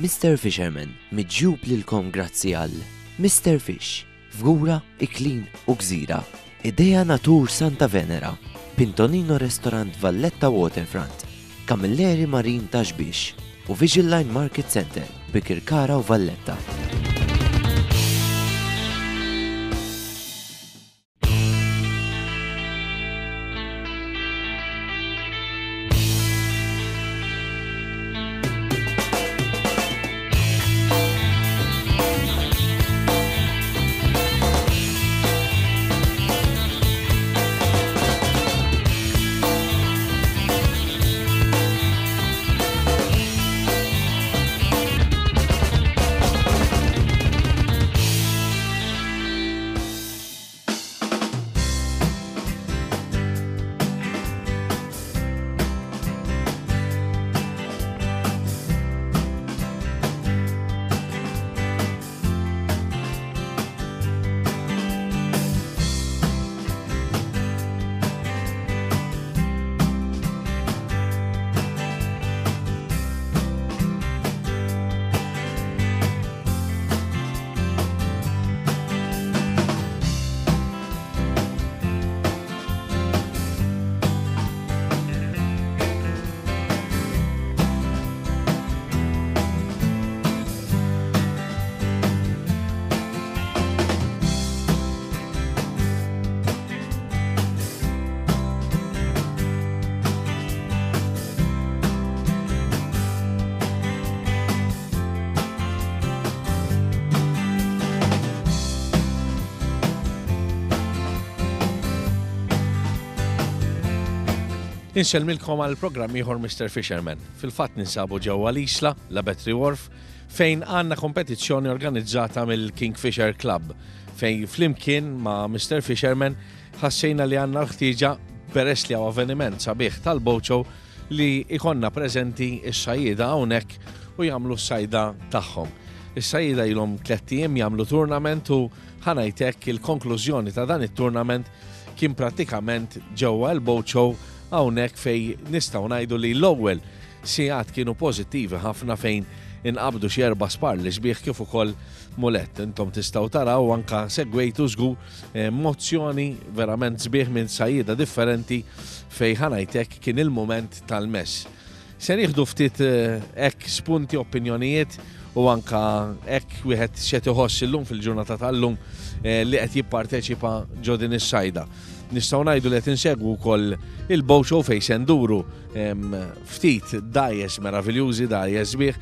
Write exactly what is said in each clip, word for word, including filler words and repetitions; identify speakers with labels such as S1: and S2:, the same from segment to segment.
S1: Mister Fisherman miġjub lilkom grazzi għal Mister Fish, Fgura, Iklin u Gżira, Idea Natur Santa Venera, Pintonino Restaurant Valletta Waterfront, Camilleri Marine Ta' Xbiex u Vision Line Market Center, Bikirkara u Valletta.
S2: Insellmilkom għal programm ieħor Mister Fisherman. Fil-fatt ninsabu ġewwa l-Isla, la Battery Wharf, fejn għandna kompetizzjoni organizzata mill-Kingfisher Club, fejn flimkien ma' Mister Fisherman ħassejna li għandna l-ħtieġa peress li hawn avveniment sabiħ tal-Bocho li ikonna preżenti s-sajjieda hawnhekk u jagħmlu s-sajda tagħhom. Is-sajjieda ilhom tliet ijiem jagħmlu tournament u ħanajtek il-konklużjoni ta' dan it-tournament kien prattikament ġewwa l-Bocho hawnhekk fejn nistgħu ngħidu li l-ewwel sigħat kienu pożittivi ħafna fejn inqabdu xi erba' spar li sbieħ kif ukoll mulett. Intom tistgħu taraw anka segwejtu żgur, eh, mozzjoni verament sbieħ minn sajjieda differenti fejn ħanajtek kien il-mument tal-mess. Se nieħdu ftit, eh, hekk spunti, opinjonijiet u anka hekk wieħed x'qed iħoss illum fil-ġurnata tal-lum, eh, li qed jipparteċipa ġo din is-sajda. Nistgħu ngħidu li qed insegwu wkoll il-Bocho fejn se nduru, em, ftit dgħajjes meraviljużi, dgħajjes sbieħ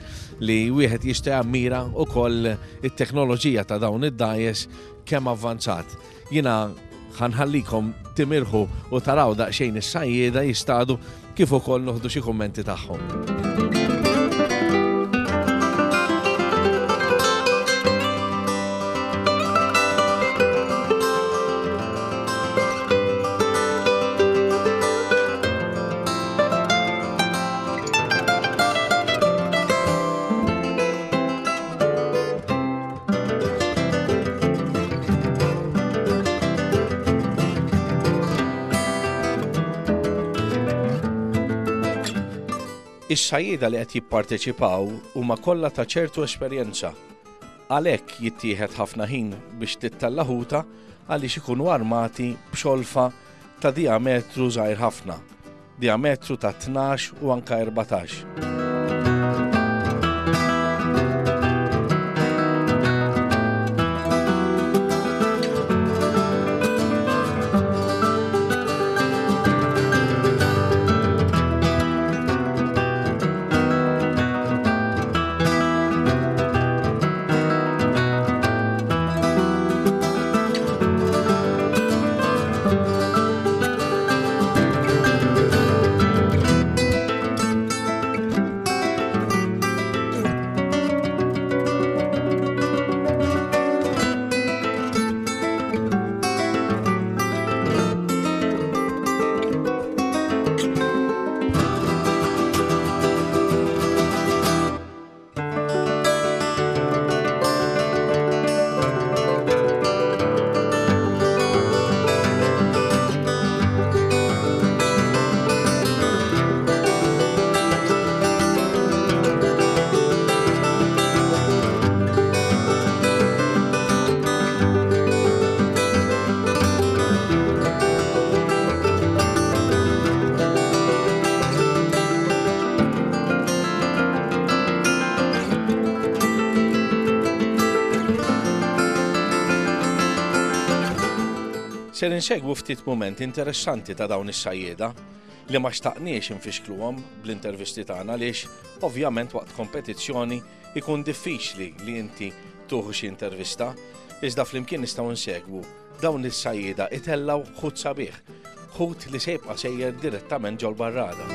S2: li wieħed jista' jammira wkoll it-teknoloġija ta' dawn id-dgħajjes kemm avvanzat. Jiena ħanħallikom timirħu u taraw daqsxejn is-sajjieda jistadu kif ukoll noħdu xi kummenti tagħhom. Is-sajjieda li qed jipparteċipaw huma kollha ta' ċertu esperjenza. Għalhekk jittieħed ħafna ħin biex tittella' ħuta għaliex ikunu armati b'xolfa ta' diametru żgħir ħafna, diametru ta' tnax u anka erbatax. Ser insegwu ftit moment interessanti ta' dawn is-sajjieda li ma xtaqniex infixkluhom bl-intervisti tagħna għaliex ovvjament waqt kompetizzjoni ikun diffiċli li inti tuħu xi intervista, iżda flimkien nistgħu nsegwu dawn is-sajjieda itellaw ħut sabiħ, ħut li se jibqa' sejjer direttament ġol-barrada.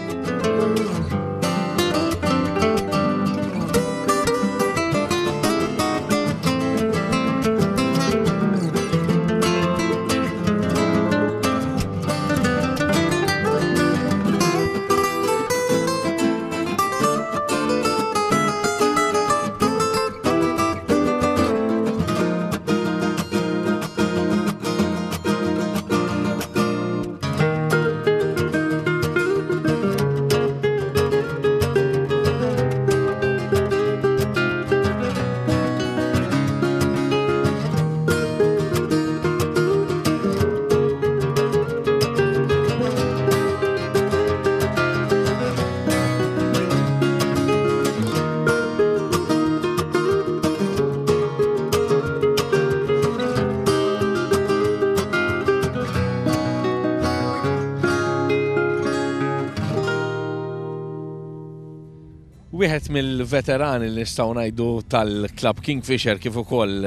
S2: Wieħed mill-veterani li nistgħu ngħidu tal-Club Kingfisher kif ukoll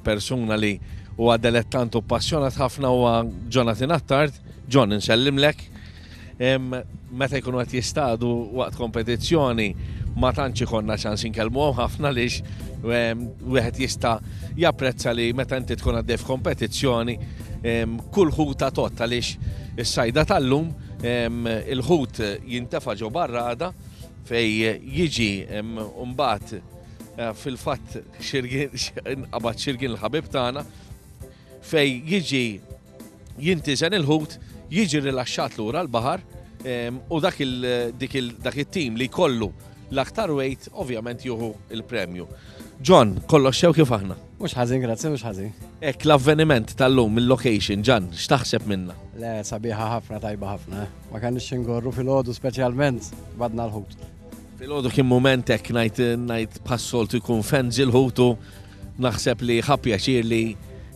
S2: persuna li huwa delettant u passjonat ħafna huwa Jonathan Attard. John, insellimlek. Meta jkunu qed jistadu waqt kompetizzjoni ma tantx ikollna ċans inkellmuhom ħafna għaliex wieħed jista' japprezza li meta inti tkun għaddej f'kompetizzjoni kull ħuta tott għaliex is-sajda tal-lum il-ħut jintefa' ġo barrada fej jiġi mbagħad fil-fatt qabad xirgin il-ħabib tagħna fej jiġi jintiżen il-ħut, jiġi rilaxxat lura l-baħar u dak it-tim li jkollu l-aktar weight ovvjament jieħu il-premju. John, kollox sew kif aħna?
S3: Mhux ħażin, grazzi, mhux ħażin.
S2: Hekk l-avveniment tal-lum il-location, John, x'taħseb minna?
S3: Le, sabiħa ħafna, tajba ħafna. Ma kenniex ingorru filgħodu speċjalment badna l-ħut.
S2: Filgħodu kien mument hekk ngħid ngħid bħas-soltu jkun fenzi l-ħutu, naħseb li ħa pjaċir li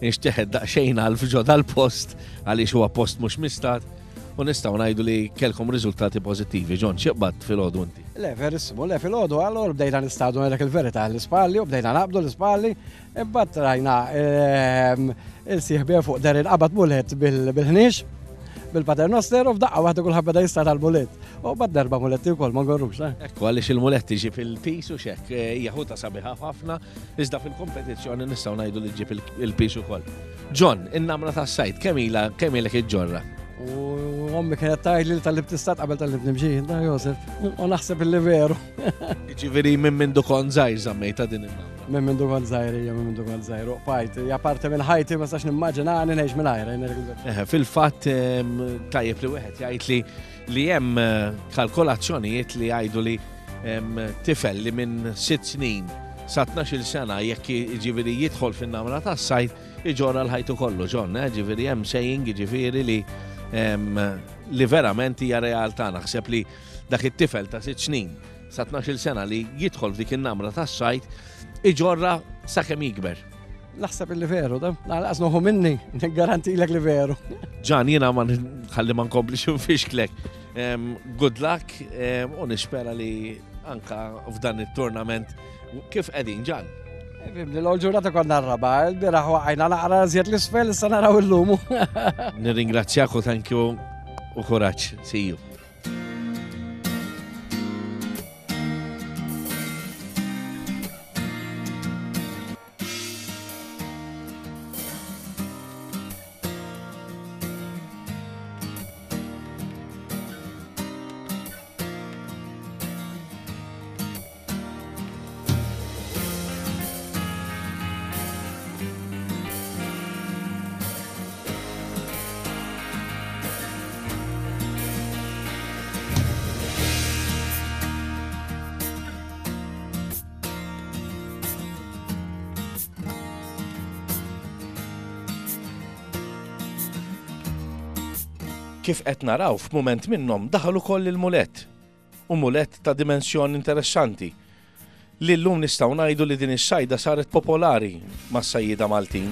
S2: nxteħed daqsxejn għal ġo dal-post għaliex huwa post mhux mistat u nistgħu ngħidu li kellkom riżultati pożittivi. John, x'qbadt filgħodu inti?
S3: Le, verissimu, le filgħodu allura bdejna nistadu ngħidlek il-verità l-ispalli u bdejna naqbdu l-ispalli, imbagħad rajna il-sieħbien fuq der inqabad mulet bil-ħniex, bil-paternoster u f'daqqa waħda kulħadd beda jista' tal-mulet. U bad darba muletti wkoll ma ngorrux.
S2: Ekku għaliex il-muletti ġib il-pis u xek, hija ħuta sabiħa ħafna, iżda fil-kompetizzjoni nistgħu ngħidu li ġib il-pis ukoll. John, in-namra tas-sajt kemm ilha kemm ilek iġġorra?
S3: U ommi kienet tgħidli li tal-li btistat qabel tal-li bnimxi, da Josef, u naħseb illi veru.
S2: Jiġifieri minn mindu kont żgħir żammejta din in-namra.
S3: Minn mindu kont żgħir, hija minn mindu kont żgħir, u qbajt, hija parti minn ħajti ma sax nimmaġinani ngħix mingħajr.
S2: Fil-fatt tajjeb li wieħed jgħid li li hemm kalkolazzjonijiet li jgħidu li tifel li minn sitt snin sa tnax-il sena jekk jiġifieri jidħol fin-namra tas-sajt iġorra l-ħajtu kollu, John, ġifieri hemm saying jiġifieri li li verament hija realtà. Naħseb li dak it-tifel ta' sitt snin sa tnax-il sena li jidħol f'dik in-namra tas-sajt iġorra sakemm jikber.
S3: Naħseb li veru, da? Naqas noħu minni, niggarantilek li veru.
S2: Ġan, jiena ma ħalli ma nkomplix nfixklek. Good luck u nispera li anka f'dan it-tournament kif qegħdin, Ġan.
S3: Fimni, l-ewwel ġurnata konna r-raba, il-bieraħ waqajna naqra żjed l-isfel, issa naraw illum.
S2: Nirringrazzjak u thank you u kuraġġ. See you. Kif qed naraw f'mument minnhom daħal ukoll il-mulet, u mulet ta' dimensjoni interessanti li llum nistgħu ngħidu li din is-sajda saret popolari mas-sajjieda Maltin.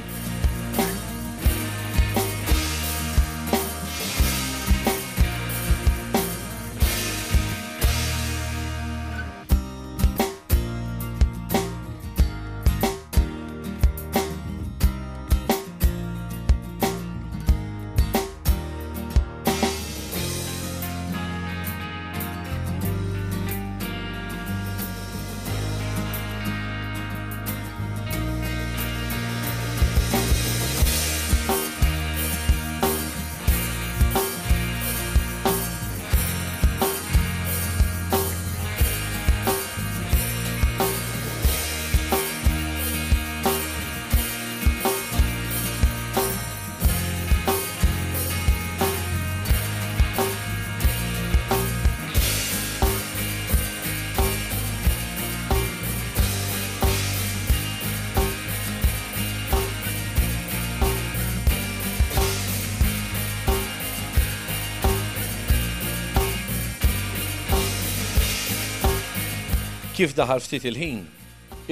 S2: Kif daħal ftit il-ħin,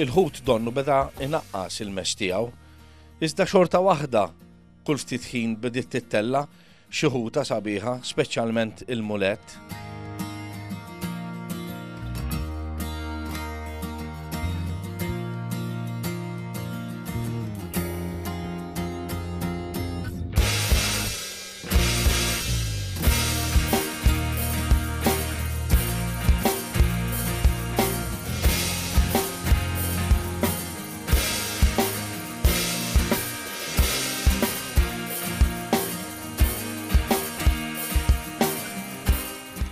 S2: il-ħut donnu beda inaqqas il-mess tiegħu, iżda xorta waħda kull ftit ħin bdiet tittella xi ħuta sabiħa, speċjalment il-mulett.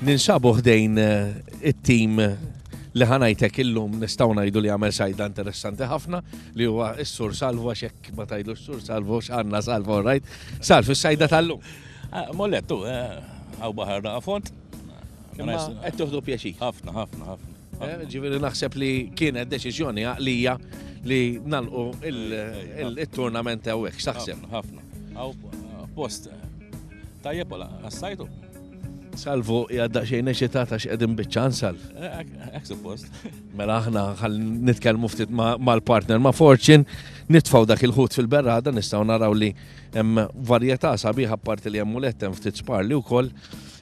S2: Ninsabu ħdejn it-tim li ħa ngħidlek illum nistgħu ngħidu li għamel sajda interessanti ħafna li huwa s-Sur Salvo, għax hekk ma tgħidlu s-Sur Salvo x'għandna Salvo, right? Salv, is-sajda tal-lum.
S4: Mollettu, għaw baħar daqa font.
S2: Imma qed tieħdu pjaċir.
S4: Ħafna, ħafna, ħafna.
S2: Ġifieri naħseb li kienet deċiżjoni għaqlija li nagħlqu il-tournament hawnhekk, x'taħseb?
S4: Ħafna. Għaw post tajjeb wala għas-sajtu.
S2: Salvo, jgħadda xejn eċitata x'qegħdin biċ-ċans, Salv.
S4: Hekk suppost.
S2: Mela aħna ħalli nitkellmu ftit mal-partner ma' Fortune, nitfgħu dak il-ħut fil-berrada, nistgħu naraw li hemm varjetà sabiħa apparti li hemm mulett, hemm ftit sparli wkoll.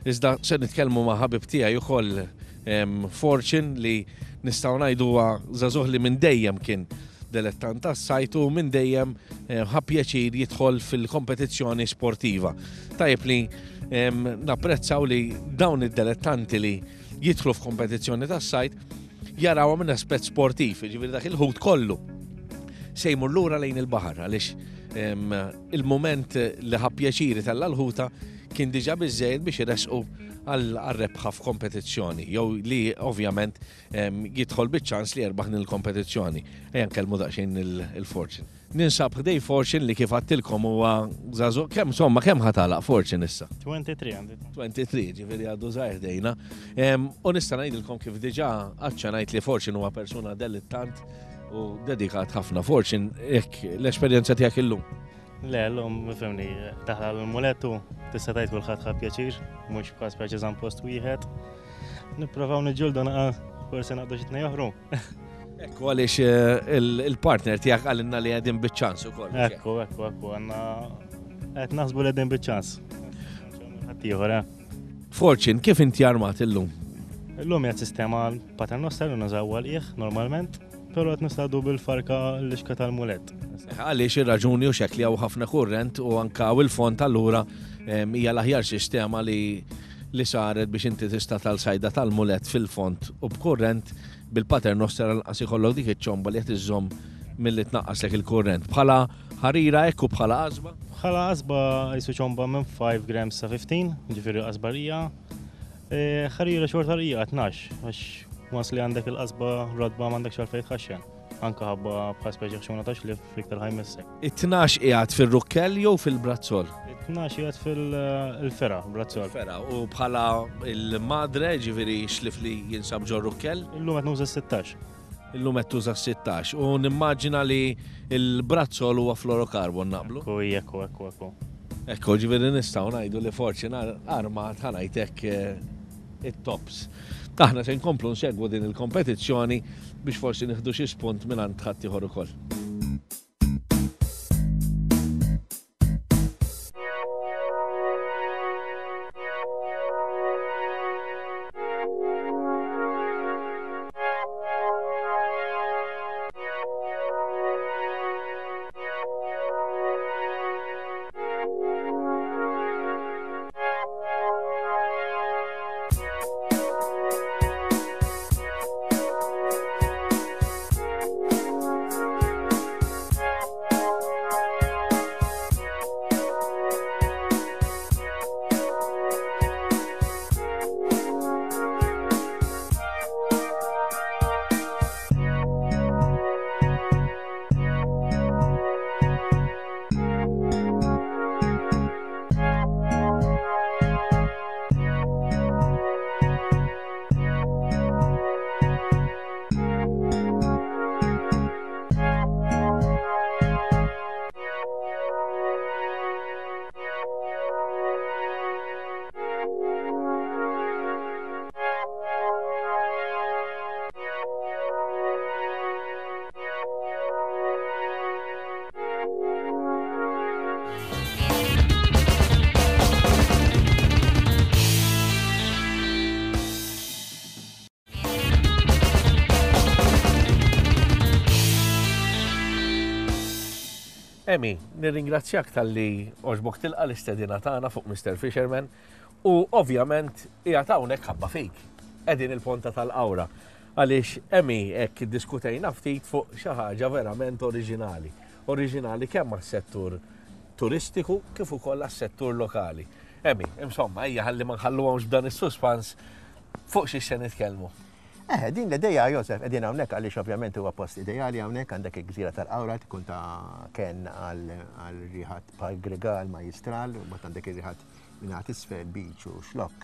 S2: Iżda se nitkellmu ma' ħabib tiegħi ukoll Fortune li nistgħu ngħidu huwa żagħżugħ li minn dejjem kien dilettant tas-sajt u minn dejjem ħa pjaċir jidħol fil-kompetizzjoni sportiva. Tajjeb li napprezzaw li dawn id-dilettanti li jidħlu f'kompetizzjoni tas-sajt jarawha minn aspett sportiv, jiġifieri dak il-ħut kollu se jmur lura lejn il-baħar għaliex il-mument li ħa pjaċir itella' l-ħuta kien diġà biżżejjed biex iresqu għal rebħa f'kompetizzjoni, jew li ovvjament jidħol biċ-ċans li jerbaħ din il-kompetizzjoni. Ejja nkellmu daqsxejn il-Fortune. Ninsab ħdej Fortune li kif għattilkom huwa żagħżugħ, kemm insomma kemm ħa tagħlaq Fortune issa?
S5: twenty-three għandi.
S2: twenty-three, ġifieri għadu żgħir ħdejna. U nista' ngħidilkom kif diġà aċċenajt li Fortune huwa persuna dilettant u dedikat ħafna. Fortune, hekk l-esperjenza tiegħek illum?
S5: Le, l-lum, fimni, taħla l-mulettu, tista' tgħid kulħadd ħa pjaċir, mhux bħal speċi żamm post wieħed. Nipprovaw niġġieldu naqa' forsi naqdu xi tnejn oħru.
S2: Ekku għaliex, eh, il-partner tiegħek qalilna li qegħdin biċ-ċans ukoll.
S5: Ekku, ekku, ekku, għandna qed naħsbu li qegħdin biċ-ċans. Ħadd ieħor, eh.
S2: Fortune, kif inti armat illum?
S5: Illum hija sistema paternoster li nużaw għal normalment, però qed nistadu bil-farka l-ixka tal-mulet.
S2: Għaliex ir-raġuni u xekli hawn ħafna kurrent u anka u l-font allura hija l-aħjar sistema li li saret biex inti tista' tal-sajda tal-mulet fil-font u b'kurrent bil-paternoster għal ikollok dik iċ-ċomba li qed iżżomm milli tnaqqaslek il-kurrent. Bħala ħarira hekk u bħala qasba?
S5: Bħala qasba jisu ċomba minn five grams sa fifteen, ġifieri qasbarija. E, ħarira xorta rija tnax, għax once li għandek il-qasba rodba m'għandekx għalfejn tħaxxen. Anka ħabba bħal speċi ħxuna ta' xlif fiktar ħajmissek.
S2: It-tnax qiegħed fir-rukkell jew fil-brazzol?
S5: It-tnax qiegħed fil-fera, brazzol.
S2: Fera, u bħala il-madre, ġifieri xlif li jinsab ġo rukkell?
S5: Illum qed nuża sittax.
S2: Illum qed tuża sittax. U nimmaġina li il-brazzol huwa fluorocarbon naqblu?
S5: Ekku, ekku, ekku, ekku.
S2: Ekku, ġifieri nistgħu ngħidu li forsi armat ħa ngħidlek, eh, it-tops. Aħna se nkomplu nsegwu din il-kompetizzjoni biex forsi nieħdu xi spunt mingħand ħaddieħor ukoll. Emi, nirringrazzjak talli għoġbok tilqa l-istedina tagħna fuq Mister Fisherman u ovvjament qiegħed hawnhekk ħabba fik. Qegħdin il-Ponta tal-Qawra. Għaliex Emi hekk iddiskutejna ftit fuq xi ħaġa verament oriġinali. Oriġinali kemm għas-settur turistiku kif ukoll għas-settur lokali. Emi, insomma, ejja ħalli ma nħalluhomx b'dan is-suspans fuq xi se nitkellmu.
S6: Eh, din l-ideja, Josef, qegħdin hawnhekk għaliex ovvjament huwa post ideali hawnhekk, għandek il-gżira tal-Qawra tkun ta' ken għal riħat bħal Grigal, Majjistral, u mbagħad għandek ir-riħat minn isfel, beach u xlokk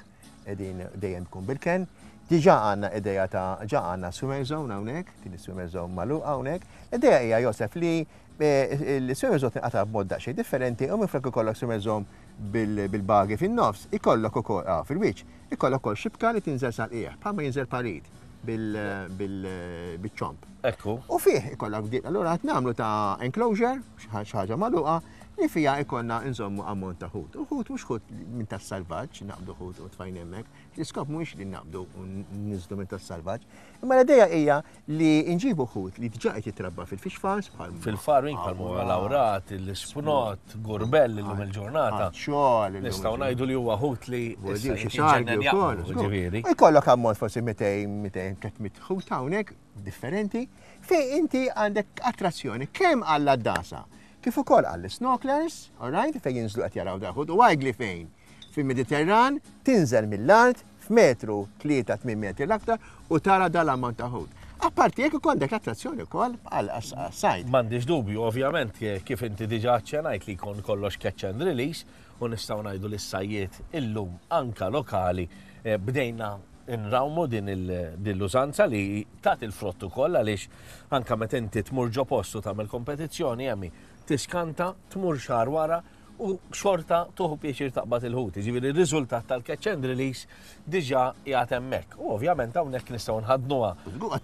S6: qegħdin dejjem tkun bil-ken. Diġà għandna ideja ta' ġa għandna swimmer zone hawnhekk, din is-swimmer zone magħluqa hawnhekk. L-ideja hija, Josef, li l-swimmer zone tinqata' b'mod daqsxejn differenti u minflok ikollok swimmer zone bil-bagi fin-nofs, ikollok ukoll fil-wiċċ, ikollok ukoll xibka li tinżel sal-qiegħ, bħalma jinżel parit bil-ċomp.
S2: Ekku.
S6: U fih ikollok dik, allura qed nagħmlu ta' enclosure, xi ħaġa magħluqa, li fija ikollna nżommu ammont ta' ħut. U ħut mhux ħut minn tas-salvaġġ, naqbdu ħut u tfajn hemmhekk. L-iskop mhuwiex li naqbdu u niżdu minn tas-salvaġġ, imma l-idea hija li nġibu ħut li diġà qed jitrabba fil-fish farms bħal
S2: fil-farming bħal huwa lawrat, l-ispnot, gurbell illum il-ġurnata.
S6: Xogħol.
S2: Nistgħu ngħidu li huwa ħut li
S6: xi sargi wkoll. Ġifieri. U jkollok ammont forsi mitejn, mitejn, tliet mitt ħut hawnhekk differenti fejn inti għandek attrazzjoni kemm għall-għaddasa kif ukoll għall-snorkelers, all right, fejn jinżlu qed jaraw daħud, u għajgli fejn fil-Mediterran tinżel mill-art f'metru tlieta tmien metri l-aktar u tara dal-ammont ta' ħut. Apparti jekk ukoll għandek attrazzjoni wkoll għal sajd.
S2: M'għandix dubju, ovvjament, kif inti diġà aċċenajt li jkun kollox catch and release u nistgħu ngħidu li s-sajjiet illum anka lokali bdejna nrawmu din l-użanza li tagħti il-frott ukoll, għaliex anka meta inti tmur ġo postu tagħmel kompetizzjoni, Emi, tiskanta tmur xahar wara u xorta tuħu pjaċir taqbad il-ħut. Ġifieri r-riżultat tal-catch and release diġà qiegħed hemmhekk. U ovvjament hawnhekk nistgħu nħadnuha.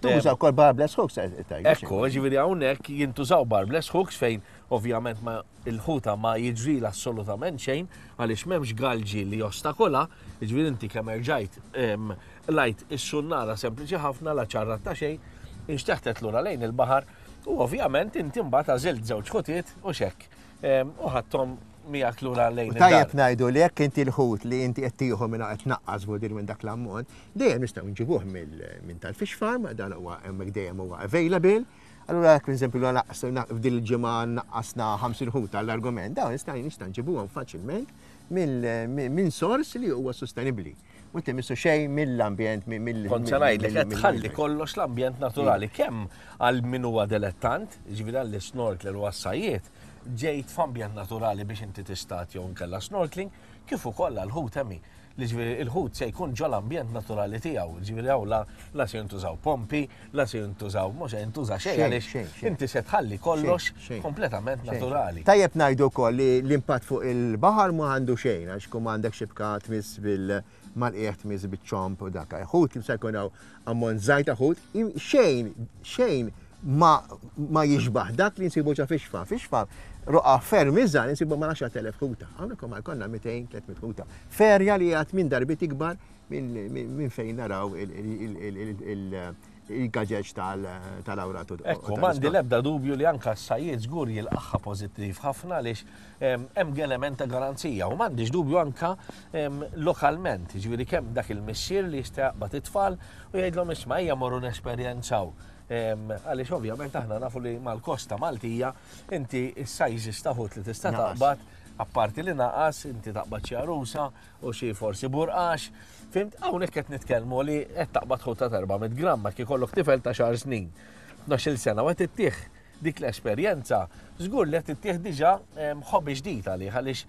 S6: Tuża wkoll barbless hooks.
S2: Ekku, ġifieri hawnhekk jintużaw barbless hooks fejn ovvjament ma il-ħuta ma jiġri assolutament xejn għaliex m'hemmx galġi li jostakola, ġifieri inti kemm erġajt lajt is-sunnara sempliċi ħafna, la ċarrat ta' xejn, inxteħtet lura lejn il-baħar u ovvjament inti mbagħad għażilt żewġ ħutiet u xekk. U ħadthom miegħek lura lejn.
S6: Tajjeb ngħidu li jekk inti l-ħut li inti qed tieħu minn qed tnaqqas vudir minn dak l-ammont, dejjem nistgħu nġibuh minn tal-fish farm, dan huwa hemmhekk dejjem huwa available. Allura jekk pereżempju f'din il-ġimgħa naqqasna ħamsin ħut għall-argument, dawn nista' nista' nġibuhom faċilment minn sors li huwa sostenibbli. U timissu xejn mill-ambjent, mill
S2: Kont se ngħidlek qed tħalli kollox l-ambjent naturali kemm għal min huwa dilettant, ġifieri għall-snorkler u għas-sajjiet, ġejt f'ambjent naturali biex inti tistat jew nkella snorkeling, kif ukoll għall-ħut, Emi. Li ġifieri il-ħut se jkun ġol ambjent naturali tiegħu, ġifieri hawn la la se jintużaw pompi, la se jintużaw, mhux se jintuża xejn għaliex inti se tħalli kollox kompletament naturali.
S6: Tajjeb ngħidu wkoll li l-impatt fuq il-baħar ma għandu xejn, għax kum għandek xibka tmiss bil mal-qiegħ tmiss biċ-ċomp u dak. Ħut li se jkun hawn ammont żgħir ta' ħut, xejn xejn ma ma jixbaħ dak li nsibu ġa fish farm. Fish farm roqa ferm iżgħar nsibu ma għaxart elef ħuta. Hawnhekk ma jkollna mitejn, tliet mitt ħuta. Ferja li għad minn darbit ikbar minn fejn naraw il-gaġeġ tal-awratu.
S2: Ekku, m'għandi l-ebda dubju li anka s-sajjied żgur jilqaħħa pożittiv ħafna għaliex hemm element ta' garanzija u m'għandix dubju anka lokalment, ġifieri kemm dak il-missier li jista' jaqbad it-tfal u jgħidlhom isma' ejja morru nesperjenzaw. Għaliex ovvjament aħna nafu li mal-kosta Maltija inti s-sizes ta' ħut li tista' taqbad, apparti li naqas, inti taqbad xi għarusa u xi forsi burqax. Fimt, hawnhekk qed nitkellmu li qed taqbad ħut ta' erba' mitt gramma kif ikollok tifel ta' xahar snin, tnax-il sena u qed ittih dik l-esperjenza, żgur li qed ittih diġà hobby ġdid għalih, għaliex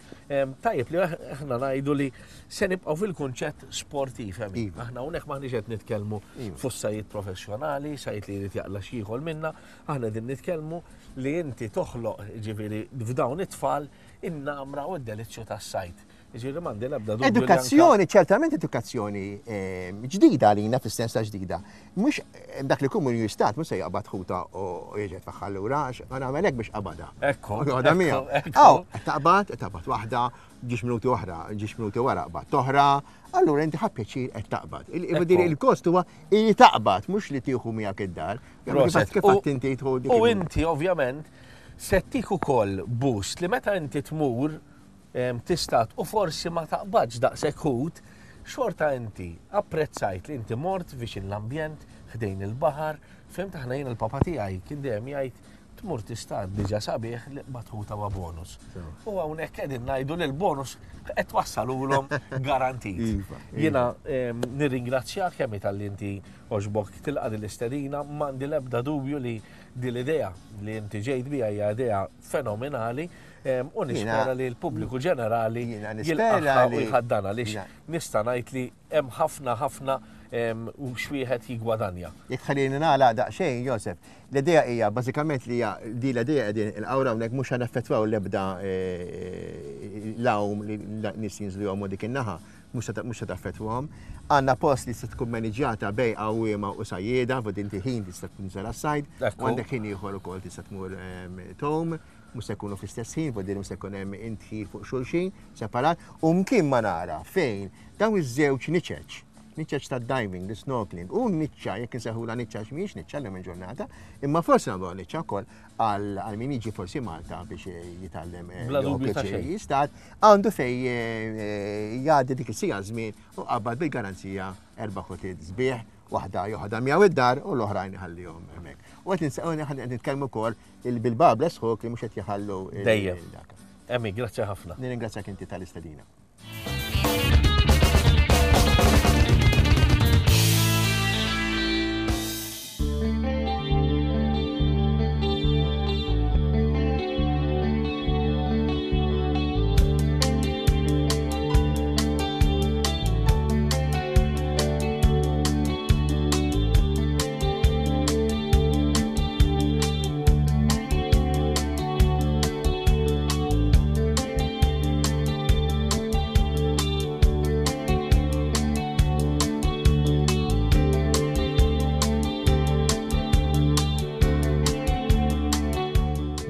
S2: tajjeb li aħna ngħidu li se nibqgħu fil-kunċett sportiv hemm.
S6: Iva.
S2: Aħna hawnhekk m'aħniex qed nitkellmu
S6: Iva.
S2: fuq sajjied professjonali, sajjied li jrid jaqla' xi ieħor minna, aħna qegħdin nitkellmu li inti toħloq ġifieri f'dawn it-tfal in-namra u d-delizzju tas-sajd. Ġifieri m'għandi l-ebda dubju li anka
S6: Edukazzjoni, ċertament edukazzjoni, eh, ġdida għalina fis-sens ta' ġdida. Mhux, eh, dak li kun jistat, mhux se jaqbad ħuta u jiġi tfaħħal lura, għax ma nagħmel hekk biex qabadha.
S2: Ekku,
S6: Għoda
S2: ekku,
S6: miegħu.
S2: ekku.
S6: Aw, qed taqbad, qed taqbad waħda, ġiex minuti oħra, ġiex minuti wara qbad toħra, allura inti ħa pjaċir qed taqbad. Il-
S2: Ekku.
S6: il-, Il-kost huwa li taqbad, mhux li tieħu miegħek id-dar.
S2: Proset.
S6: Kif
S2: U-
S6: għadt inti tieħu dik
S2: U
S6: il-
S2: inti ovvjament Se ttik ukoll boost li meta inti tmur tistad u forsi ma taqbadx daqshekk ħut, xorta inti apprezzajt li inti mort viċin l-ambjent, ħdejn il-baħar, fhimt aħna jien il-papa tiegħi kien dejjem jgħid tmur tistad diġà sabiħ li batħuta wa bonus. U hawnhekk qegħdin ngħidu li l-bonus qed twassalulhom garantit. Jiena nirringrazzjak kemm talli inti għoġbok tilqa' din l-istedina, m'għandi l-ebda dubju li din l-idea li inti ġejt biha hija idea fenomenali u nispera li l-pubbliku ġenerali jilqagħha u jħaddanha għaliex nista' ngħid li hemm ħafna ħafna u x'wieħed jiggwadanja.
S6: Jekk ħallini nagħlaq daqsxejn, Josef, l-idea hija bażikament li hija di l-idea qegħdin il-qawra hawnhekk mhux ħanaffettwaw l-ebda l-għawm li nies jinżlu jgħumu dik in-naħa, mhux se taffettwahom. Għandna post li se tkun maniġjata bej għawwiema u sajjieda, fod inti ħin tista' tinżel għas-sajd, u għandek ħin ieħor ukoll tista' tmur tgħum, mhux se jkunu fl-istess ħin, fod mhux se jkun hemm intħil fuq xulxin separat, u mkien ma nara fejn dawn iż-żewġ niċeċ, niċċeċ ta' diving, the snorkeling, u niċċa, jekk insejħulha niċċa x'mhijiex niċċa llum il-ġurnata, imma forsi nagħmluha niċċa wkoll għal min jiġi forsi Malta biex jitgħallem jistad, għandu fej jgħaddi dik is-sija żmien u qabad bil-garanzija erba' ħutiet sbieħ, waħda joħodha miegħu id-dar u l-oħrajn iħallihom hemmhekk. U qed nitkellmu wkoll bil-babla sħok li mhux qed jħallu
S2: dejjem. Emmi, grazzi ħafna.
S6: Nirringrazzjak inti tal-istedina.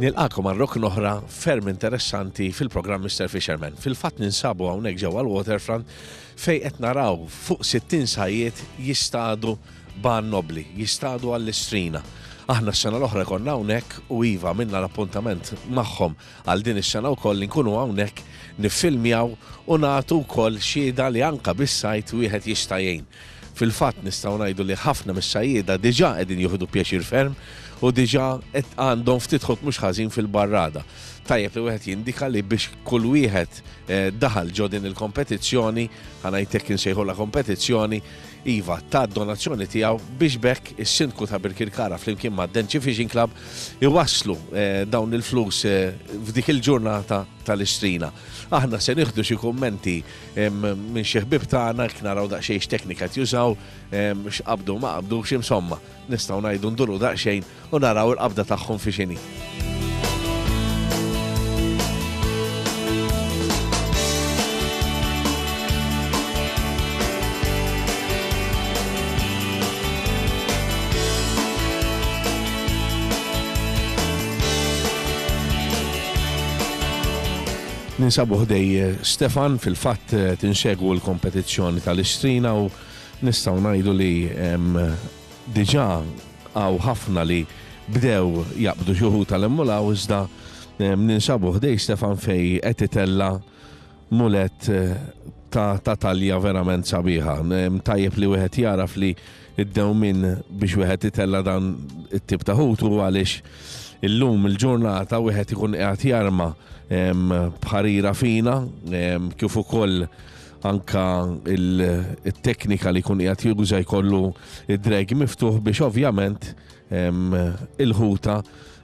S2: Nilqakom għal rokna oħra ferm interessanti fil-programm Mister Fisherman. Fil-fatt ninsabu hawnhekk ġewwa l-Waterfront fejn qed naraw fuq sittin sajjied jistadu ban nobli, jistadu għall-istrina. Aħna s-sena l-oħra konna hawnhekk u iva minna l-appuntament magħhom għal din is-sena wkoll li nkunu hawnhekk niffilmjaw u nagħtu wkoll xhieda li anke bis-sajt wieħed jista' jgħin. Fil-fatt nistgħu ngħidu li ħafna mis-sajjieda diġà qegħdin jieħdu pjaċir ferm u diġà qed għandhom ftit ħut mhux ħażin fil-barrada. Tajjeb li wieħed jindika li biex kull wieħed daħal ġo din il-kompetizzjoni, ħa ngħidlek insejħulha kompetizzjoni, iva ta' donazzjoni tiegħu biex bekk is-sindku ta' Birkirkara flimkien ma' Denċi Fishing Club iwasslu dawn il-flus f'dik il-ġurnata tal-istrina. Aħna se nieħdu xi kummenti minn xi ħbieb tagħna jekk naraw daqsxejn x'teknika qed jużaw, x'qabdu ma qabdux, insomma, nistgħu ngħidu nduru daqsxejn u naraw il-qabda tagħhom fi x'inhi. Ninsabu ħdej Stefan, fil-fatt tinsegwu l-kompetizzjoni tal-istrina u nistgħu ngħidu li diġà hawn ħafna li bdew jaqbdu xi wħud tal-immulaw, iżda ninsabu ħdej Stefan fej qed itella' mulet ta' talja verament sabiħa. Tajjeb li wieħed jaraf li id-dewmien biex wieħed itella' dan it-tip ta' ħut u għaliex illum il-ġurnata wieħed ikun qiegħed jarma b'ħarira fina, kif ukoll anka il-teknika li jkun qiegħed juża jkollu id-drag miftuħ biex ovvjament il-ħuta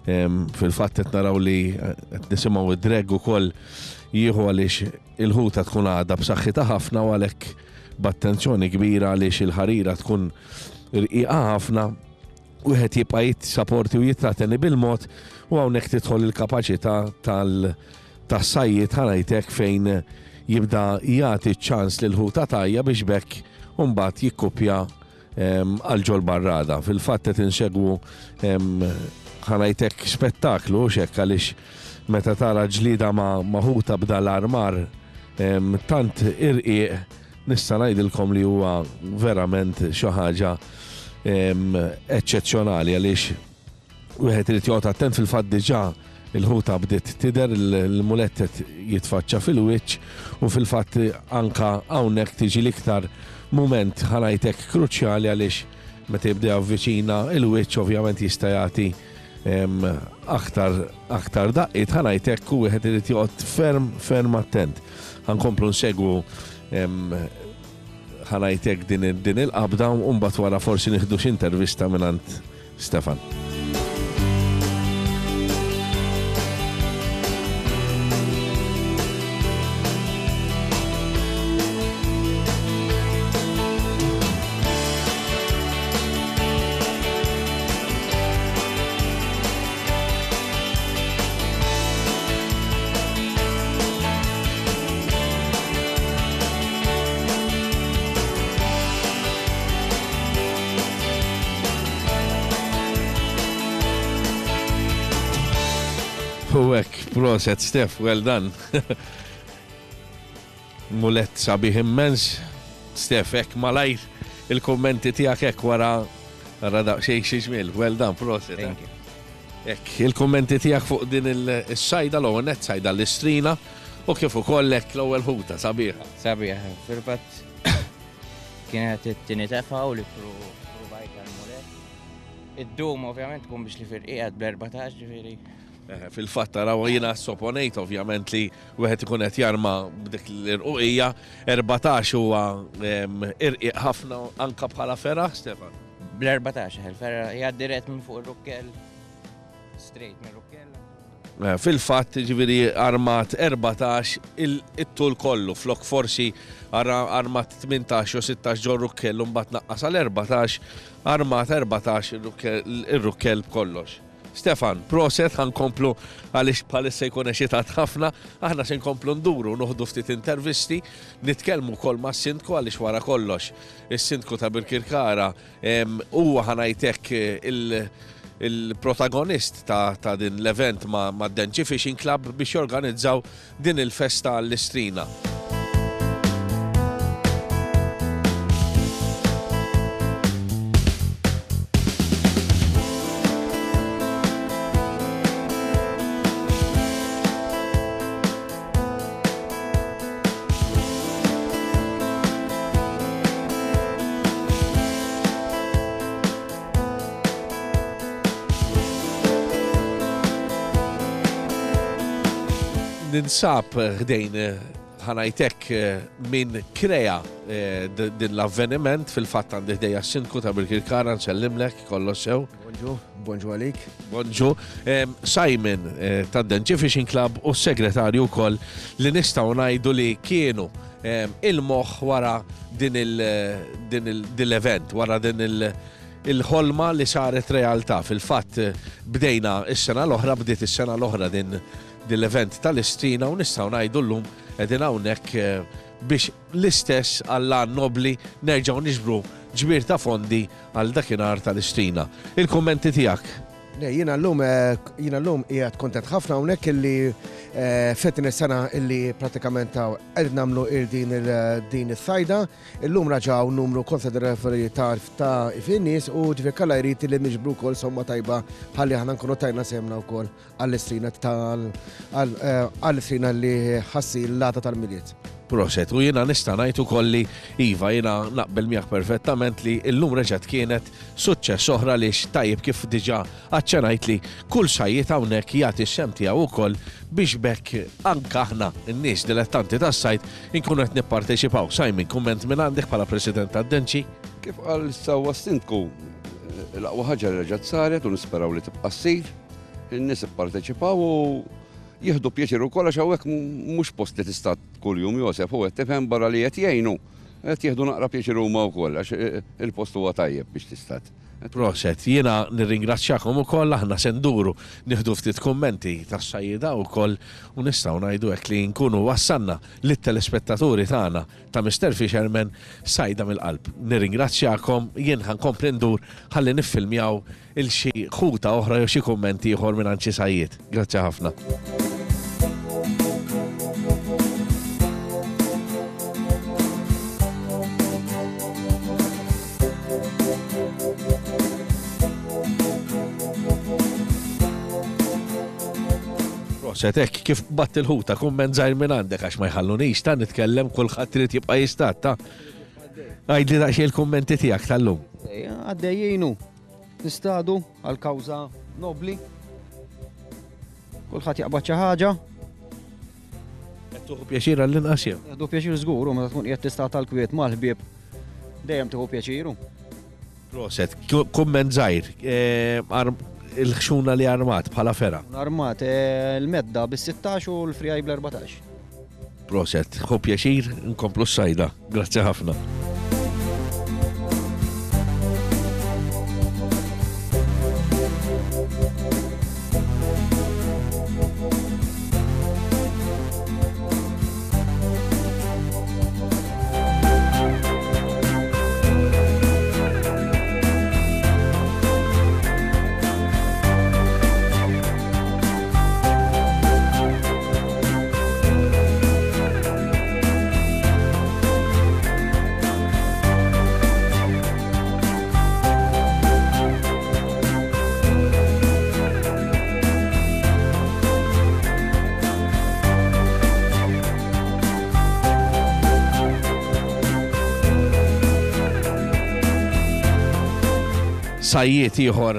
S2: fil-fatt qed naraw li qed nisimgħu id-drag ukoll jieħu għaliex il-ħuta tkun għadha b'saħħitha ħafna u għalhekk b'attenzjoni kbira għaliex il-ħarira tkun irqiqa ħafna, wieħed jibqa' jissaporti u jitrateni bil-mod u hawnhekk tidħol il-kapaċità tas-sajjied ħanajtek fejn jibda jagħti ċ-ċans lil ħuta tajja biex bekk u mbagħad jikkupja għal ġol barrada. Fil-fatt qed insegwu ħanajtek spettaklu x'hekk għaliex meta tara ġlieda ma' ħuta b'da l-armar tant irqiq nista' ngħidilkom li huwa verament xi ħaġa eċċezzjonali għaliex wieħed irid joqgħod attent. Fil-fatt diġà Il-ħuta bdiet tidher, il-mulett qed jitfaċċa fil-wiċċ u fil-fatt anka hawnhekk tiġi l-iktar mument ħa ngħidlek kruċjali għaliex meta jibda javviċina il-wiċċ ovvjament jista' jagħti aktar aktar daqqiet ħa ngħidlek u wieħed irid joqgħod ferm ferm attent. Ħa nkomplu nsegwu ħa ngħidlek din il-qabda u mbagħad wara forsi nieħdu xi intervista mingħand Stefan. U hekk, proset, Stef, well done. Mulett sabiħ immens. Stef, hekk malajr il-kommenti tiegħek hekk wara wara daqsxejn xi ġmiel. Well done, proset.
S7: Thank you.
S2: Hekk, il-kommenti tiegħek fuq din il-sajda, l-ewwel nett sajda l-istrina u kif ukoll hekk l-ewwel ħuta sabiħa.
S7: Sabiħa, fil-fatt kienet it-tieni tefa u li provajt għal-mulett. Id-dum ovvjament tkun biex li firqiegħed bl-erbatax ġifieri.
S2: Fil-fatt taraw jiena sopponejt ovvjament li wieħed ikun qed jarma b'dik l-irquqija, erbatax huwa irqiq ħafna anka bħala ferra, Stefan.
S7: Bl-erbatax, il-ferra jgħaddi dirett minn fuq ir-rukkell, straight minn rukkell.
S2: Fil-fatt ġifieri armat erbatax it-tul kollu, flok forsi armat tmintax u sittax ġo rukkell u mbagħad naqqas għal erbatax, armat erbatax ir-rukkell b'kollox. Stefan, proset, ħankomplu għaliex bħalissa jkun eċitat ħafna, aħna se nkomplu nduru, noħdu ftit intervisti, nitkellmu wkoll mas-sindku għaliex wara kollox. Is-sindku ta' Birkirkara huwa ħa ngħidlek il-protagonist ta' din l-event ma' Denċi Fishing Club biex jorganizzaw din il-festa għall-istrina. Ninsab ħdejn ħa ngħidlek min krea din l-avveniment, fil-fatt għandi ħdejja s-sindku ta' Birkirkara, nsellimlek, kollox sew.
S8: Bonġu, bonġu għalik.
S2: Bonġu. Simon ta' Denċi Fishing Club u s-segretarju wkoll li nistgħu ngħidu li kienu il-moħħ wara din l-event, wara din il- il-ħolma li saret realtà. Fil-fatt bdejna is-sena l-oħra, bdiet is-sena l-oħra din l-event tal-istrina u nistgħu ngħidu llum qegħdin hawnhekk biex l-istess għall-għan nobli nerġgħu niġbru ġbir ta' fondi għal dakinhar tal-istrina. Il-kummenti tiegħek?
S8: Le, jiena llum, jiena llum qiegħed kontent ħafna hawnhekk illi fetin is-sena illi pratikament qed nagħmlu din din is-sajda. Illum raġaw numru konsiderevoli ta' ta' fin-nies u ġifier kalla jrid li niġbru wkoll somma tajba ħalli aħna nkunu tajna semna wkoll għall-istrina tal għall-istrina li ħassi l-lata tal-Milied.
S2: Proset, u jiena nista' ngħid ukoll li iva, jiena naqbel miegħek perfettament li llum reġgħet kienet suċċess oħra li tajjeb kif diġà aċċenajt li kull sajjied hawnhekk jagħti x-xem tiegħu wkoll biex bekk anke aħna n-nies dilettanti tas-sajd inkunu qed nipparteċipaw. Simon, kumment minn għandek bħala President tad-Denċi?
S9: Kif qal sewwa s-sindku, l-aqwa ħaġa li reġgħet saret u nisperaw li tibqa' ssir, in-nies ipparteċipaw u jieħdu pjaċir ukoll għax hawnhekk mhux post li tista' kuljum Josef, u qed tifhem barra li qed jgħinu, qed jieħdu naqra pjaċir huma wkoll għax il-post huwa tajjeb biex tistat.
S2: Proset, jiena nirringrazzjakom ukoll, aħna se nduru nieħdu ftit kummenti tas-sajjieda wkoll u nistgħu ngħidu hekk li nkunu wassalna lit-telespettaturi tagħna ta' Mister Fisherman sajda mill-qalb. Nirringrazzjakom, jien ħankompli ndur ħalli niffilmjaw il xi ħuta oħra jew xi kummenti ieħor minn xi sajjied. Grazzi ħafna. Proset, hekk kif batt il-ħuta, kumment żgħir minn għandek għax ma jħallunix ta' nitkellem, kulħadd irid jibqa' jistat ta'. Għidli daqsxejn il-kummenti tiegħek tal-lum.
S10: Għaddejjinu, nistadu għal kawża nobli. Kulħadd jaqbad xi ħaġa.
S2: Qed tieħu pjaċir għall-inqas jew?
S10: Nieħdu pjaċir żgur, u meta tkun qiegħed tista' tal-kwiet mal-ħbieb dejjem tieħu pjaċiru.
S2: Proset, kumment żgħir, il-ħxuna li armat bħala fera.
S10: Armat il-medda bis-sittax u l-frijaj bl-erbatax.
S2: Proset, ħu pjaċir, nkomplu s-sajda. Grazzi ħafna. Sajjiet ieħor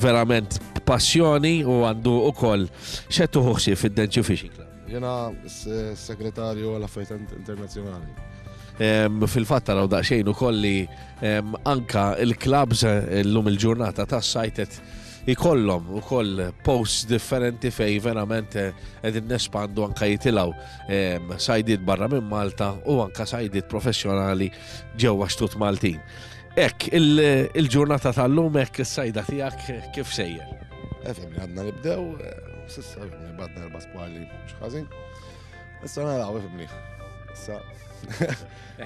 S2: verament passjoni u għandu ukoll x'qed tuħu ħsieb fid-Denċi Fishing Club.
S11: Jiena s-segretarju għal affarijiet internazzjonali.
S2: Fil-fatt taraw daqsxejn ukoll li anka il-clubs illum il-ġurnata tas-sajtet ikollhom ukoll posts differenti fej verament qegħdin nespandu anka jitilgħu sajdiet barra minn Malta u anka sajdiet professjonali ġewwa xtut Maltin. Ek, il-ġurnata tal-lum hekk is-sajda tiegħek kif sejjer?
S11: Efhem li għadna nibdew, s'issa efhem li badna erba' skwali mhux ħażin. Issa naraw efhem li. Issa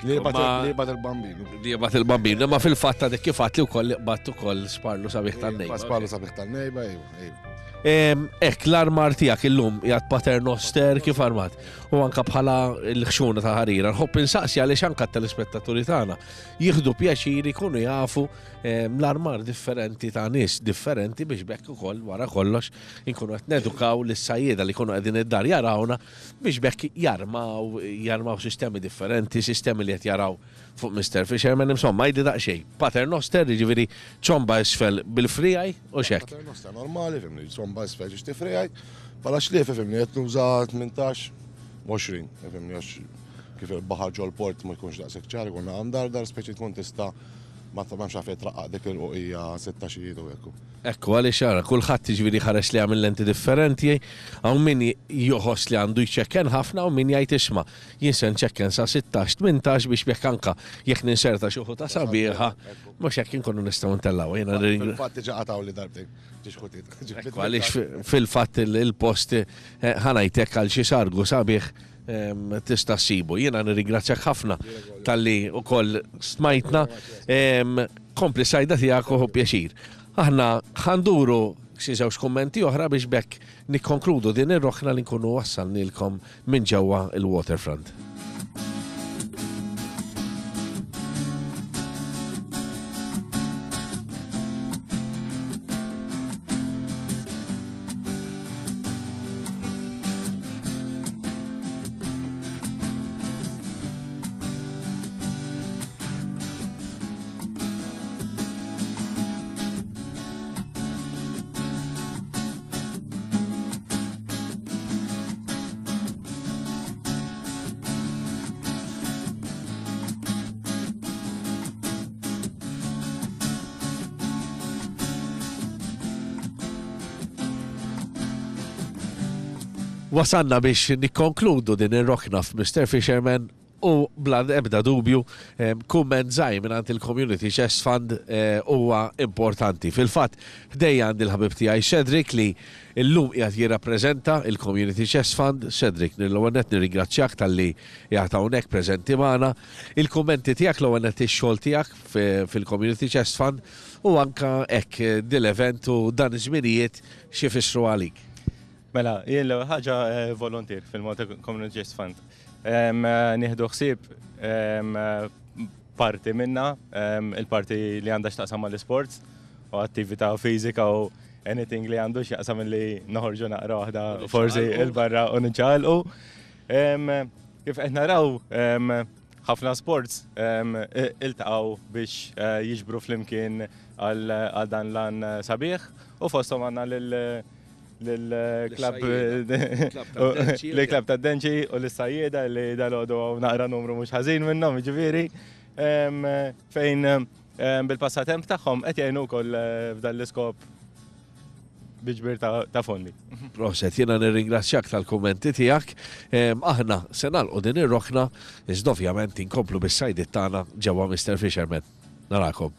S11: li jibgħat il-bambin.
S2: Li jibgħat il-bambin, imma fil-fatt għadek kif għad li wkoll qbadt ukoll sparlu sabiħ tan-nejba.
S11: Sparlu sabiħ tan-nejba, ejwa, ejwa.
S2: Ek, l-armar tiegħek illum qiegħed paternoster kif armat u anka bħala l-ħxuna ta' ħarira. Nħobb insaqsi għaliex anka t-telespettaturi tagħna jieħdu pjaċir ikunu jafu l-armar differenti ta' nies differenti biex bekk ukoll wara kollox inkunu qed nedukaw lis-sajjieda li jkunu qegħdin id-dar jarawna biex bekk jarmaw jarmaw sistemi differenti, sistemi li qed jaraw fuq Mister Fisherman, insomma, jdi daqsxejn. Paternoster, jiġifieri ċomba isfel bil-frijaj u xek.
S11: Paternoster normali, fimni, ċomba isfel ġiġ tifrijaj, bħala xlief, fimni, qed nuża tmintax, għoxrin, fimni, għax kif il-baħar ġol port ma jkunx daqshekk ċar, ikun għandar dar speċi tkun tista' ma tafx għalfejn traqqaq dik il-qoqija sittax-ijiet u hekk.
S2: Ekku, għaliex ara, kulħadd jiġifieri ħares li għamil lenti differenti, hawn min joħoss li għandu jċekken ħafna u min jgħid isma' jien se nċekken sa sittax, tmintax biex jekk anka jekk ninserta xi ħuta sabiħa, mhux hekk inkunu nistgħu ntellgħu. Jiena
S11: Fil-fatt diġà qatgħu li darbtejn, ġiex ħutiet.
S2: Ekku, għaliex fil-fatt il-post ħanajtek għal xi sargu sabiħ tista' ssibu. Jiena nirringrazzjak ħafna talli wkoll smajtna, kompli sajda tiegħek u pjaċir. Aħna ħanduru xi żewġ kummenti oħra biex bekk nikkonkludu din ir-roħna li nkunu wassalnilkom minn ġewwa il-waterfront. Wasanna biex nikkonkludu din ir-rokna f'Mister Fisherman u bla ebda dubju kumment żgħir mingħand il-Community Chest Fund huwa importanti. Fil-fatt ħdejja għandi l-ħabib tiegħi Cedric li llum qiegħed jirrappreżenta il-Community Chest Fund. Cedric, l-ewwel nett nirringrazzjak talli qiegħed hawnhekk preżenti magħna. Il-kummenti tiegħek l-ewwel nett ix-xogħol tiegħek fil-Community Chest Fund u anka hekk dil-event u dan iż-żminijiet xi jfissru għalik.
S5: Mela, jien l-ewwel ħaġa volontier fil-Malta Community Chest Fund. Nieħdu ħsieb parti minna, il-parti li għandha x'taqsam mal-isports u attività fiżika u anything li għandu x'jaqsam li noħorġu naqra waħda forsi il-barra u niċċaqalqu. Kif qed naraw, ħafna sports iltaqgħu biex jiġbru flimkien għal dan l-għan sabiħ u fosthom għandna lill-klabb lill-klabb tad-Denċi u lis-sajjieda li dalgħodu hawn naqra numru mhux ħażin minnhom, jiġifieri, fejn bil-passatemp tagħhom qed jgħinu wkoll f'dan l-iskop bi ġbir ta' fondi.
S2: Proset, jiena nirringrazzjak tal-kummenti tiegħek. Aħna se nagħlqu din ir-rokna, iżda ovvjament inkomplu bis-sajdiet tagħna ġewwa Mister Fisherman. Narakom.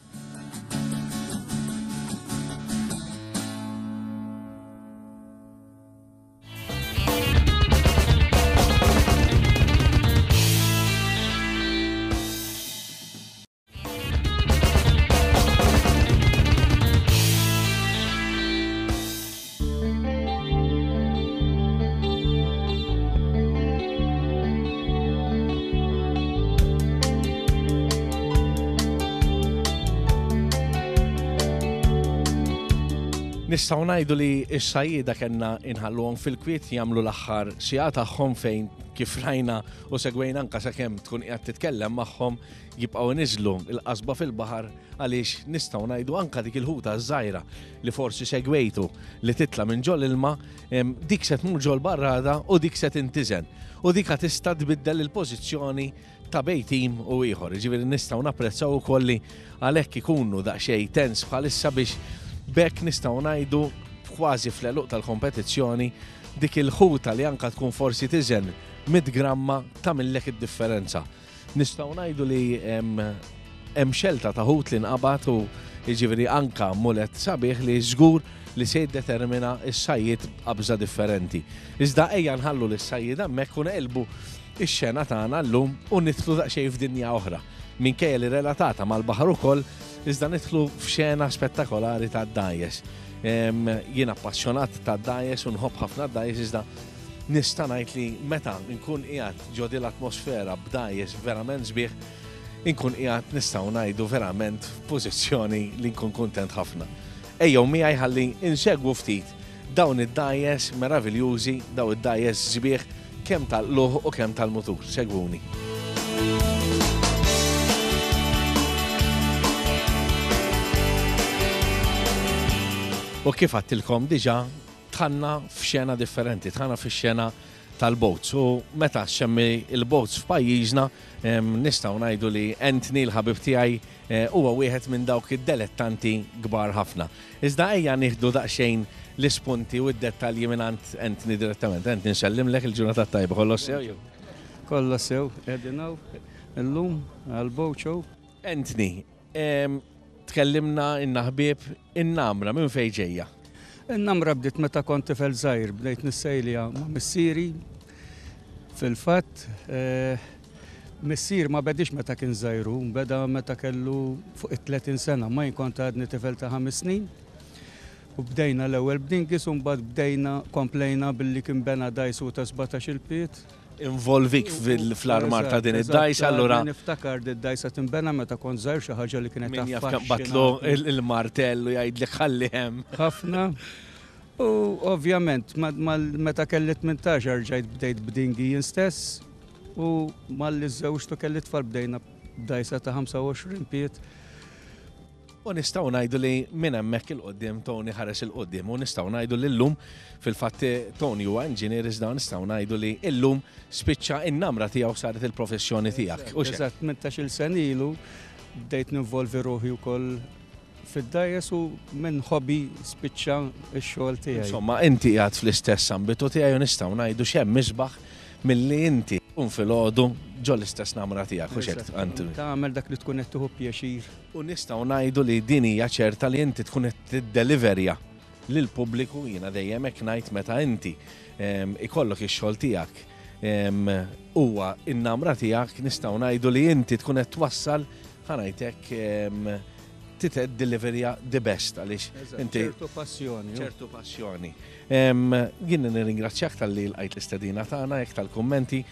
S2: Nistgħu ngħidu li s-sajjieda kellna inħalluhom fil-kwiet jagħmlu l-aħħar siegħa tagħhom fejn kif rajna u segwejna anke sakemm tkun qiegħed titkellem magħhom jibqgħu niżlu l-qasba fil-baħar għaliex nistgħu ngħidu anke dik il-ħuta żgħira li forsi segwejtu li titla' minn ġol ilma, dik se tmur ġol barrada u dik se tintiżen. U dik tista' tbiddel il-pożizzjoni ta' bej tim u ieħor. Jiġifieri nistgħu napprezzaw ukoll li għalhekk ikunu daqsxejn tens bħalissa biex bekk nistgħu ngħidu kważi fl-għeluq tal-kompetizzjoni dik il-ħuta li anka tkun forsi tiżen mitt gramma tagħmillek id-differenza. Nistgħu ngħidu li hemm xelta ta' ħut li nqabad u jiġifieri anka mulet sabiħ li żgur li se jiddetermina s-sajjied b'qabża differenti. Iżda ejja nħallu lis-sajjied hemmhekk u neqilbu ix-xena tagħna llum u nidħlu daqsxejn f'dinja oħra. Minkejja li relatata mal-baħar ukoll, iżda nidħlu f'xena spettakolari tad-dgħajjes. Jien appassjonat tad-dgħajjes u nħobb ħafna d-dgħajjes, iżda nista' ngħid li meta nkun qiegħed ġo din l-atmosfera b'dgħajjes verament sbieħ, inkun qiegħed nistgħu ngħidu verament f'pożizzjoni li nkun kuntent ħafna. Ejjew miegħi ħalli insegwu ftit dawn id-dgħajjes meraviljużi, dawn id-dgħajjes sbieħ kemm tal-luħ u kemm tal-mutur. Segwuni. U kif għattilkom diġa, tħanna f'xena differenti, tħanna f'xena tal-boats. U meta xemmi il-boats f'pajjiżna, nistgħu ngħidu li Anthony l-ħabib tiegħi huwa wieħed minn dawk id-delettanti kbar ħafna. Iżda ejja nieħdu daqsxejn l-ispunti u d-dettalji mingħand Anthony direttament. Anthony, nsellimlek il-ġurnata tajba, kollox sew jew?
S12: Kollox sew, qegħdin hawn illum għall-boat show.
S2: Anthony, tkellimna inna ħbieb in-namra minn fejn ġejja?
S12: In-namra bdiet meta kont tifel żgħir, bdejt nissejlija ma' missieri. Fil-fatt, missier ma bedix meta kien żgħir, beda meta kellu fuq it-tletin sena, ma jien kont għadni tifel ta' ħames snin. U bdejna l-ewwel b'dingis u mbagħad bdejna komplejna billi kien bena dajsu ta' sbatax il-piet.
S2: Involvik fl-armar ta' din id-dajsa, allura.
S12: Niftakar di d-dajsa tinbena meta kont żgħir xi ħaġa li kienet
S2: Min jaf kemm batlu il-martell u jgħidlek ħalli hemm.
S12: Ħafna. U ovvjament meta kelli tmintax rġajt bdejt b'dingi jien stess u malli żewġtu kelli tfal bdejna b'dajsa ta' ħamsa u għoxrin piet.
S2: U nistgħu ngħidu li minn hemmhekk il-qudiem Tony ħares il-qudiem u nistgħu ngħidu li llum fil-fatt Tony huwa inġinier iżda nistgħu ngħidu li llum spiċċa in-namra tiegħu saret il-professjoni tiegħek. U x'hekk?
S12: Eżatt, tmintax-il sena ilu bdejt ninvolvi ruħi wkoll fid-dgħajjes u minn hobby spiċċa x-xogħol tiegħi.
S2: Insomma, inti qiegħed fl-istess ambitu tiegħi u nistgħu ngħidu x'hemm isbaħ milli inti tqum filgħodu ġo l-istess namra tiegħek, u x'hekk, Anthony?
S12: Tagħmel dak li tkun qed tieħu pjaċir.
S2: U nistgħu ngħidu li din hija ċerta li inti tkun qed tiddeliverja lill-pubbliku, jiena dejjem hekk ngħid meta inti, ehm, ikollok ix-xogħol tiegħek, ehm, huwa n-namra tiegħek, nistgħu ngħidu li inti tkun qed twassal, ħa ngħidlek, ehm, tited deliverja the best għaliex
S12: Eżatt,
S2: inti
S12: ċertu passjoni, ju.
S2: ċertu passjoni. Ehm, jien nirringrazzjak tal-li lqajt l-istedina tagħna, jekk tal-kummenti.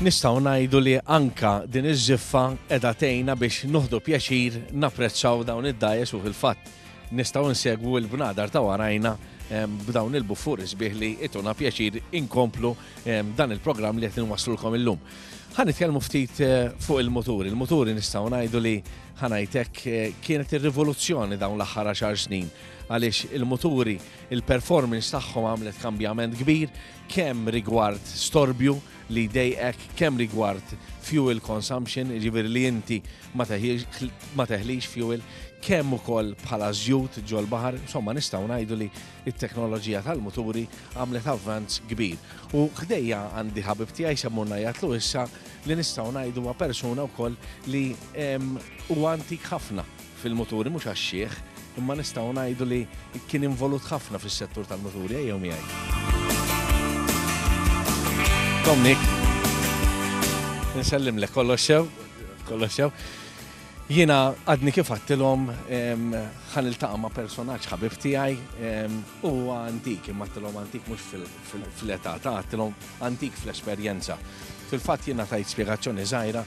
S2: Nistgħu ngħidu li anka din iż-żiffa qiegħda tgħinna biex nieħdu pjaċir napprezzaw dawn id-dgħajjes u fil-fatt nistgħu nsegwu l-bnadar ta' warajna b'dawn il-buffuri sbieħ li ituna pjaċir inkomplu dan il-programm li qed inwasslulkom illum. Ħa nitkellmu ftit fuq il-muturi. Il-muturi nistgħu ngħidu li ħa ngħidlek kienet ir-rivoluzzjoni dawn l-aħħar għaxar snin għaliex il-muturi, il-performance tagħhom għamlet kambjament kbir kemm rigward storbju li dejqek, kemm rigward fuel consumption, jiġifieri li inti ma teħlix fuel, kemm ukoll bħala żjut ġol-baħar, insomma nistgħu ngħidu li t-teknoloġija tal-muturi għamlet avvanz kbir. U ħdejja għandi ħabib tiegħi semmurna jgħatlu issa li nistgħu ngħidu huwa persuna wkoll li huwa antik ħafna fil-muturi, mhux għax-xiħ, imma nistgħu ngħidu li kien involut ħafna fis-settur tal-muturi, ejjew miegħi. Dominic, nsellimlek, kollox sew, kollox sew. Jiena għadni kif għattilhom ħa niltaqa' ma' personaġġ ħabib tiegħi huwa antik, imma għattilhom antik mhux fl-età, ta' għattilhom antik fl-esperjenza. Fil-fatt jiena tajt spjegazzjoni żgħira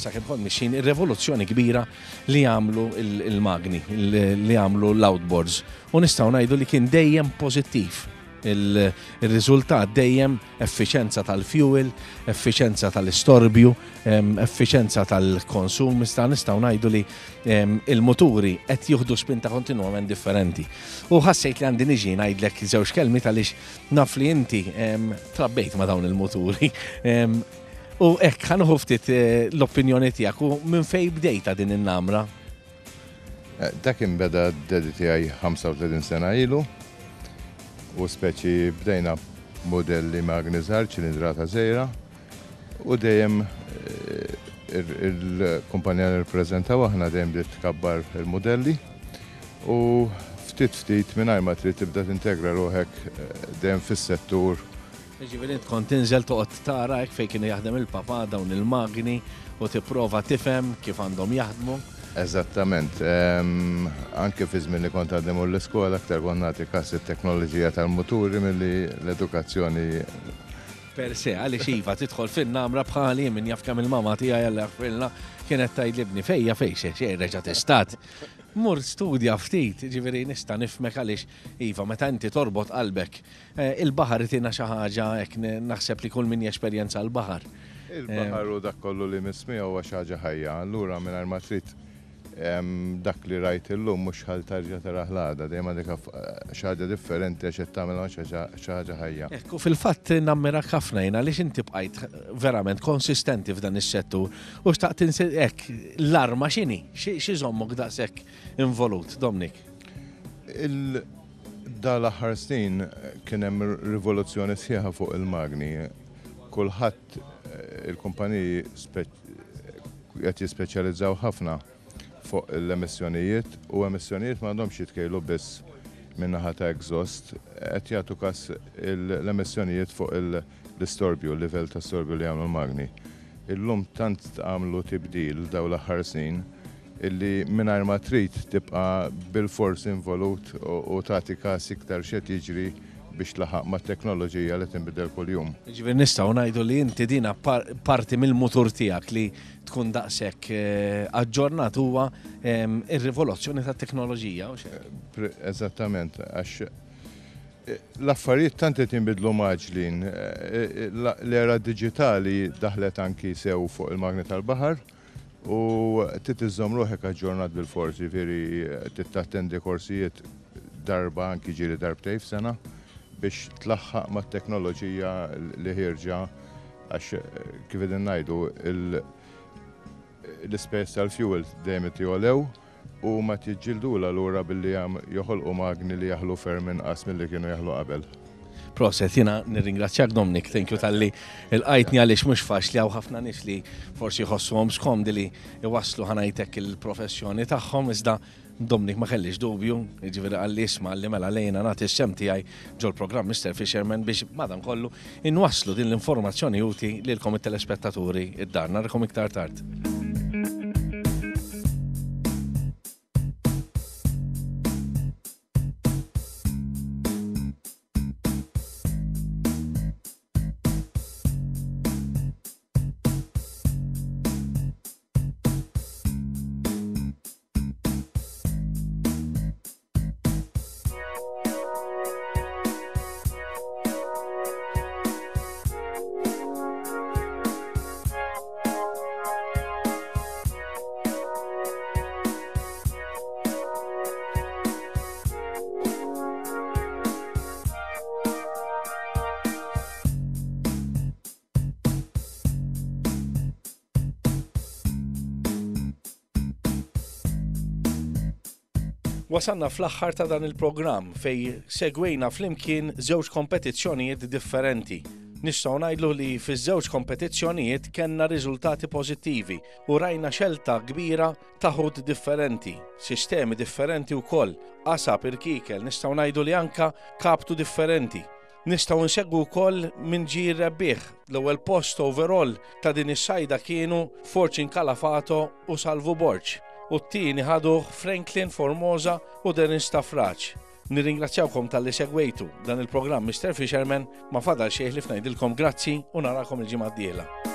S2: sakemm kont mixin ir-revoluzzjoni kbira li għamlu il-magni, li għamlu l-outboards. U nistgħu ngħidu li kien dejjem pożittiv. Il-riżultat dejjem effiċenza tal-fuel, effiċenza tal-istorbju, effiċenza tal-konsum, issa nistgħu ngħidu li il-muturi qed jieħdu spinta kontinwament differenti. U ħassejt li għandi niġi ngħidlek żewġ kelmiet għaliex naf li inti trabbejt ma' dawn il-muturi. U hekk ħa nieħu ftit l-opinjoni tiegħek u minn fejn bdejta din in-namra?
S13: Dak inbeda d-dedi tiegħi ħamsa u tletin sena ilu. U speċi bdejna modelli magni żgħar, ċilindrata żgħira, u dejjem il-kumpanija li nirrappreżentaw aħna dejjem bdiet tkabbar il-modelli u ftit ftit mingħajr ma trid tibda tintegra ruħek dejjem fis-settur.
S2: Jiġifieri int kont tinżel toqgħod tara hekk fejn kienu jaħdem il-papà dawn il-magni u tipprova tifhem kif għandhom jaħdmu.
S13: Eżattament. Anke fi żmien li kont għadni mmur l-iskola aktar kont nagħti kas it-teknoloġija tal-muturi milli l-edukazzjoni.
S2: Per se, għaliex iva tidħol fin-namra bħali min jaf kemm il-mama tiegħi Alla jaghfirlha kienet tgħidli ibni fejja fejn xejn xejn reġa' testat. Mur studja ftit, jiġifieri nista' nifhmek għaliex iva meta inti torbot qalbek il-baħar itina xi ħaġa hekk naħseb li kull min jesperjenza l-baħar.
S13: Il-baħar u dak kollu li miss miegħu huwa xi ħaġa ħajja, allura mingħajr ma trid dak li rajt illum mhux ħal tarġa' taraħ l-għada, dejjem għandek xi ħaġa differenti għax qed tagħmel xi ħaġa ħajja.
S2: Ekku, fil-fatt nammirak ħafna jien għaliex inti bqajt verament konsistenti f'dan is-settur u xtaqt hekk l-arma x'inhi? Xi żommok daqshekk involut, Dominic?
S13: Da l-aħħar snin kien hemm rivoluzzjoni sħiħa fuq il-magni. Kulħadd il-kumpaniji qed jispeċjalizzaw ħafna fuq l-emissjonijiet u emissjonijiet m'għandhomx jitkejlu biss min-naħa ta' exhaust, qed jagħtu każ l-emissjonijiet fuq l-istorbju, l-livell ta' storbju li jagħmlu l-magni. Illum tant għamlu tibdil dawn l-aħħar snin illi mingħajr ma trid tibqa' bil-fors involut u tagħti każ iktar x'qed jiġri biex tlaħaq mat-teknoloġija li tinbidel kuljum.
S2: Jiġifieri nistgħu ngħidu li inti dina parti mill-mutur tiegħek li tkun daqshekk aġġornat huwa ir-rivoluzzjoni tat-teknoloġija, u xejn?
S13: Eżattament, għax l-affarijiet tant qed jinbidlu maġlin, l-era diġitali daħlet anki sew fuq il-magni tal-baħar u trid iżżomm ruħek aġġornat bil-fors, jiġifieri trid tattendi korsijiet darba anki ġieli darbtejn f'sena biex tlaħħaq mat-teknoloġija li ħierġa għax kif qegħdin ngħidu l-ispejjeż tal-fuel dejjem qed jogħlew u ma tiġġildula lura billi joħolqu magni li jaħlu ferm inqas milli kienu jaħlu qabel.
S2: Proset, jiena nirringrazzjak Dominic, thank you talli lqajtni għaliex mhux faċli hawn ħafna nies li forsi jħossuhom skomdi li iwasslu ħa ngħidlek il-professjoni tagħhom iżda Dominic ma kellix dubju, jiġifieri qalli isma' li mela lejna nagħti s-sem tiegħi ġol-programm Mister Fisherman biex madankollu inwasslu din l-informazzjoni utli lilkom it-telespettaturi id-dar. Narakom iktar tard. Wasalna fl-aħħar ta' dan il-programm fejn segwejna flimkien żewġ kompetizzjonijiet differenti. Nistgħu ngħidlu li fiż-żewġ kompetizzjonijiet kellna riżultati pożittivi u rajna xelta kbira ta' ħut differenti, sistemi differenti wkoll, qasab irkikel, nistgħu ngħidu li anka kaptu differenti. Nistgħu nsegwu wkoll min ġie rebbieħ. L-ewwel post overall ta' din is-sajda kienu Fortune Calafato u Salvu Borg u t-tieni ħaduh Franklin Formosa u Derin Stafraċ. Nirringrazzjawkom talli segwejtu dan il-programm Mister Fisherman. Ma fadal xejn ħlief ngħidilkom grazzi u narakom il-ġimgħa d-dieħla.